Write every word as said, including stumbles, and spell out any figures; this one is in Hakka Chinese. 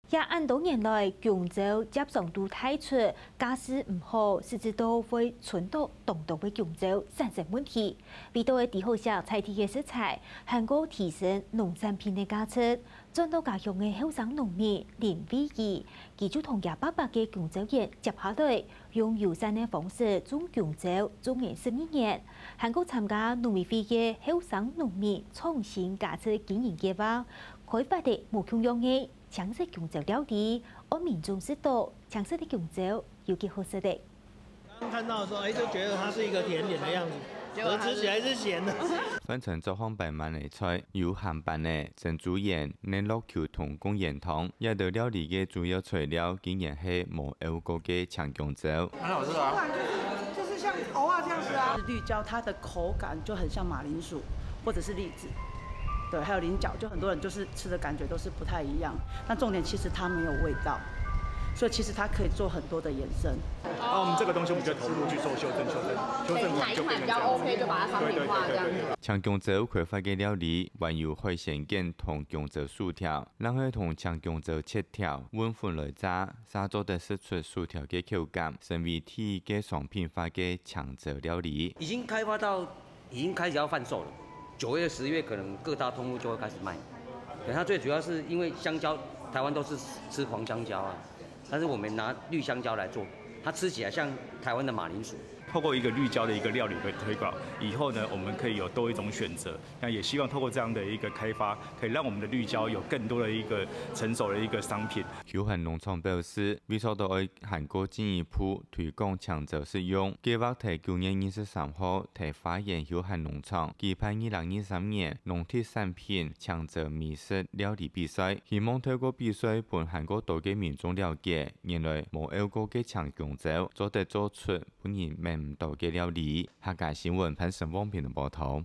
這恁多年來，弓蕉接常都大出，價數毋好，甚至到會伸到當多个弓蕉，產生問題。為到个抵好食在地个食材，還過提升農產品个價值，轉到家鄉个後生農民林惠儀，佢就同佢伯伯个弓蕉園接下來，用友善个方式種弓蕉，種了十二年，還過參加農委會个後生農民創新價值經營計畫，開發个無共樣个青色弓蕉料理，愛民眾食到青色个弓蕉有幾好食个。剛看到的時候，哎，就覺得它是一個甜點的樣子，可是吃起來是鹹的。番茄做項擺滿个菜，有鹹粄仔、珍珠圓、奶酪球同貢丸湯，這道料理个主要材料竟然係無漚過个青弓蕉。很好吃啊。就是像芋仔這樣子啊。綠蕉它的口感就很像馬鈴薯或者是栗子，對，還有菱角，就很多人就是吃的感覺都是不太一樣。那重點其實它沒有味道，所以其實它可以做很多的延伸。那我們這個東西我們就投入去做修正，修正，修正完就變成這樣子。哪一款比較OK，就把它商品化這樣子。對對對對對。青弓蕉開發个料理，還有海鮮卷同弓蕉薯條，另外同青弓蕉切條，搵粉來炸， 正做得食出薯條个口感，成為第一个商品化个青蕉料理。已經開發到，已經開始要販售了。九月、十月可能各大通路就會開始賣。對，它最主要是因為香蕉，台灣都是吃黃香蕉啊，但是我們拿綠香蕉來做，它吃起來像台灣的馬鈴薯。透過一個綠蕉的一個料理的推廣，以後呢，我們可以有多一種選擇。 那也希望透過這樣的一個開發，可以讓我們的綠蕉有更多的一個成熟的一個商品。休閒農場表示，為做到愛還過進一步推廣青蕉食用，計畫在九月二十三號在花園休閒農場舉辦二零二三年農特產品青蕉美食料理比賽，希望透過比賽分還過多个民眾了解，原來無漚過个青弓蕉做得做出分人愐毋到个料理。客家新聞潘成旺編報導。